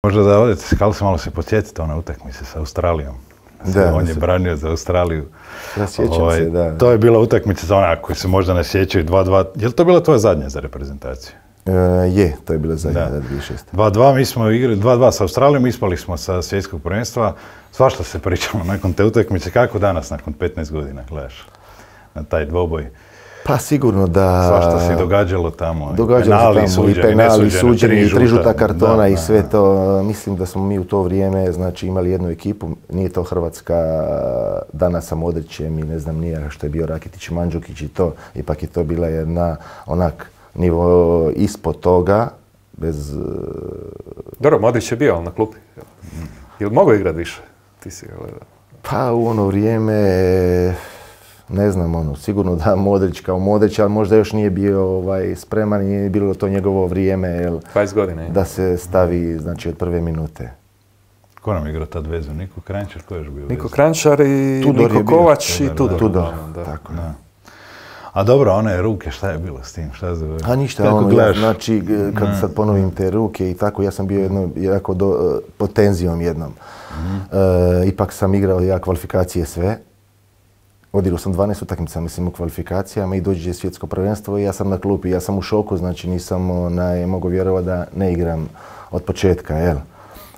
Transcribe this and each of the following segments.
Možda da odete, kako se malo se podsjetite one utakmice sa Australijom. On je branio za Australiju. Ja sjećam se, da. To je bila utakmica za onak koji se možda ne sjećaju 2-2. Je li to bila tvoja zadnja za reprezentaciju? Je, to je bila zadnja, da, 2006. 2-2, mi smo igrali 2-2 sa Australijom, ispali smo sa svjetskog prvenstva. Svašta se pričalo nakon te utakmice. Kako danas, nakon 15 godina, gledaš na taj dvoboj? Pa sigurno da... Svašta se događalo tamo. Događalo se tamo i penali, suđeni, i 3 žuta kartona i sve to. Mislim da smo mi u to vrijeme, znači, imali jednu ekipu. Nije to Hrvatska danas sa Modrićem i ne znam nije što je bio Rakitić, Mandžukić i to. Ipak je to bila jedna onak nivo ispod toga, bez... Dobro, Modrić je bio na klupi. Je li mogao igrati više? Ti si ga gledao. Pa u ono vrijeme... Ne znam, sigurno da Modrić kao Modrić, ali možda još nije bio spreman i nije bilo to njegovo vrijeme 20 godina, da se stavi, znači, od prve minute. Ko nam igrao tad vezu? Niko Kranjčar, ko je još bio vezu? Niko Kranjčar i Tudor Niko Kovač i Tudor. Tudor, tako. Da. A dobro, one ruke, šta je bilo s tim? A ništa, znači, kad sad ponovim te ruke i tako, ja sam bio jako pod tenzijom jednom. Ipak sam igrao ja kvalifikacije sve. Odigrao sam 12 utakmica, mislim, u kvalifikacijama i dođe svjetsko prvenstvo i ja sam na klupi. Ja sam u šoku, znači nisam mogu vjerovati da ne igram od početka, jel?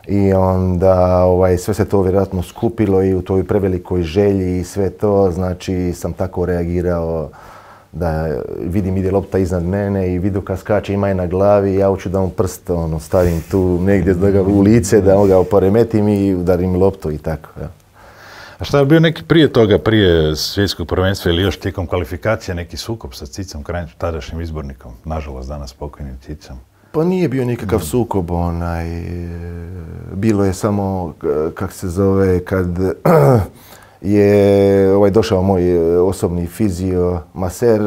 I onda sve se to vjerojatno skupilo i u toj prevelikoj želji i sve to, znači sam tako reagirao da vidim ide lopta iznad mene i vidu kad skače ima je na glavi, ja hoću da mu prst stavim tu negdje u lice, da ga poremetim i udarim loptu i tako, jel? A šta je bio neki prije toga, prije svjetskog prvenstva ili još tijekom kvalifikacije neki sukob sa Cicom Kranjčom, tadašnjim izbornikom, nažalost danas pokojnim Cicom? Pa nije bio nikakav sukob, bilo je samo, kak se zove, kad je došao moj osobni fizio, maser,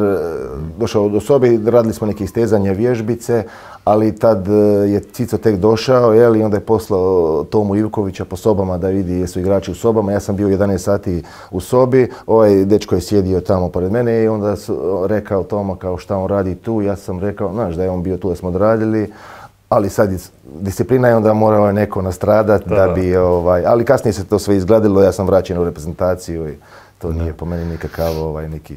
došao do sobe, radili smo neke istezanja, vježbice, ali tad je Cico tek došao, i onda je poslao Tomu Ivkovića po sobama da vidi jesu igrači u sobama. Ja sam bio 11 sati u sobi, ovaj dečko je sjedio tamo pored mene i onda su rekao Toma kao šta on radi tu. Ja sam rekao, znaš da je on bio tu da smo odradili, ali sad disciplina je onda morao neko nastradat da bi, ali kasnije se to sve izgladilo, ja sam vraćen u reprezentaciju i to nije po meni nikakav neki...